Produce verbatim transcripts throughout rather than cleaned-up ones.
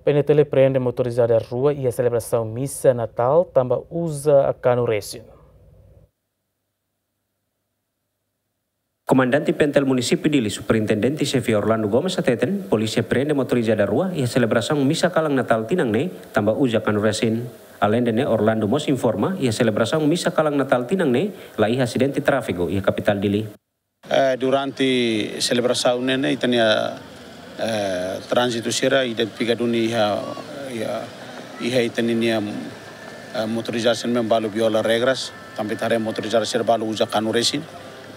P N T L prende motorizada rua iha selebrasaun misa Natál tanba uza kanu resin. Komandante P N T L Munisípiu Dili, Superintendente Xefe Orlando Gomes hateten, polísia prende motorizada rua iha selebrasaun misa kalan Natál tinan ne'e tanba uza kanu resin. Aleinde ne'e, Orlando mós informa, iha selebrasaun misa kalan Natál tinan ne'e la iha asidente tráfiku iha kapitál Dili. Eh, durante selebrasaun ne'e, ne'e ita-nia, eh, tránzitu sira identifika duni iha, iha, iha ita-nia, eh, motorizada sira ne'ebé balu viola regras, tanba ita haree motorizada sira balu uza kanu resin.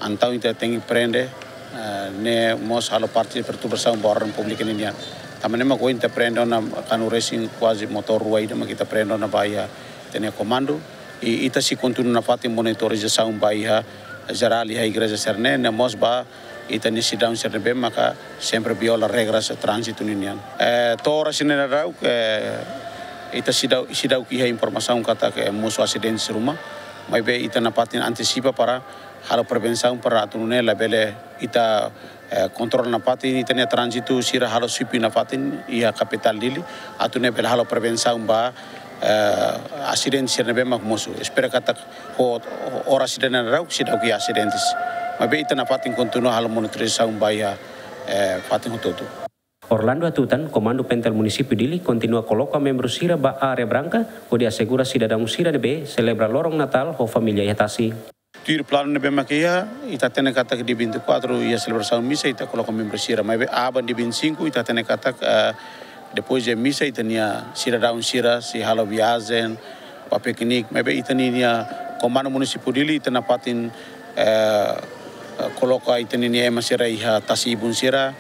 Entaun ita tenke prende, eh, ne'e mós halo parte perturbasaun ba orden públiku ninian. Tanba ne'e mak ohin ita prende ona kanu resin kuaze motór rua ida mak ita prende ona ba iha ita-nia komandu. I ita sei kontinua nafatin monitorizasaun ba iha jerál iha igreja sira-ne'e, ne'e mós ba ita-nia sidadaun sira ne'ebé maka sempre viola regras tránzitu ninian. Eh, to'o oras ida-ne'e daudaun, eh, ita seidauk, seidauk iha informasaun katak mosu asidente sira ruma, maibé ita nafatin antesipa para halo prevensaun para atu nune'e labele ita, eh, kontrola nafatin ita-nia tránzitu sira, halo swipe nafatin iha kapitál Dili, atu nune'e bele halo prevensaun ba, eh, asidente sira ne'ebé mak mosu. Espera katak ho, ho oras ida-ne'e daudaun seidauk iha asidentes. Maibé ita nafatin kontinua halo monitorizasaun ba iha, eh, fatin hotu-hotu. Orlando hatutan, Komandu P N T L Munisípiu Dili kontinua koloka membru sira ba área branka, hodi asegura sidadaun sira ne'ebé selebra loron Natál ho família iha tasi. Tuir planu ne'ebé mak iha, ita hatene katak dia vinte e quatro iha selebrasaun misa, ita koloka membru sira. Maibé aban dia vinte e cinco, ita hatene katak, eh, depois de misa, ita-nia sidadaun sira sei halo viajen, ba piknik, maibé ita-nia Komandu Munisípiu Dili, ita nafatin, eh, koloka ita-nia ema sira iha tasi-ibun sira,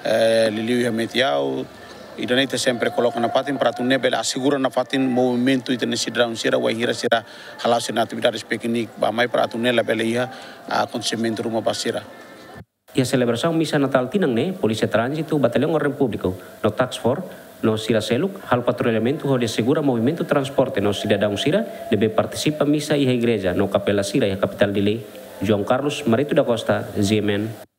eh, liuliu iha Metiau, ida-ne'e ita sempre koloka nafatin para atu nune'e bele asegura nafatin movimentu ita-nia sidadaun sira, wainhira sira hala'o sira-nia atividades piknik, bá-mai para atu nune'e labele iha akontesimentu ruma ba sira. Iha selebrasaun misa Natál tinan ne'e, Polísia Tránzitu, Batallaun Orden Públiku, no Task Force, no sira seluk, halo patrullamentu hodi asegura movimentu transporte no sidadaun sira ne'ebé partisipa misa iha igreja no kapela sira iha kapitál Dili. João Carlos Marito da Costa, G M N.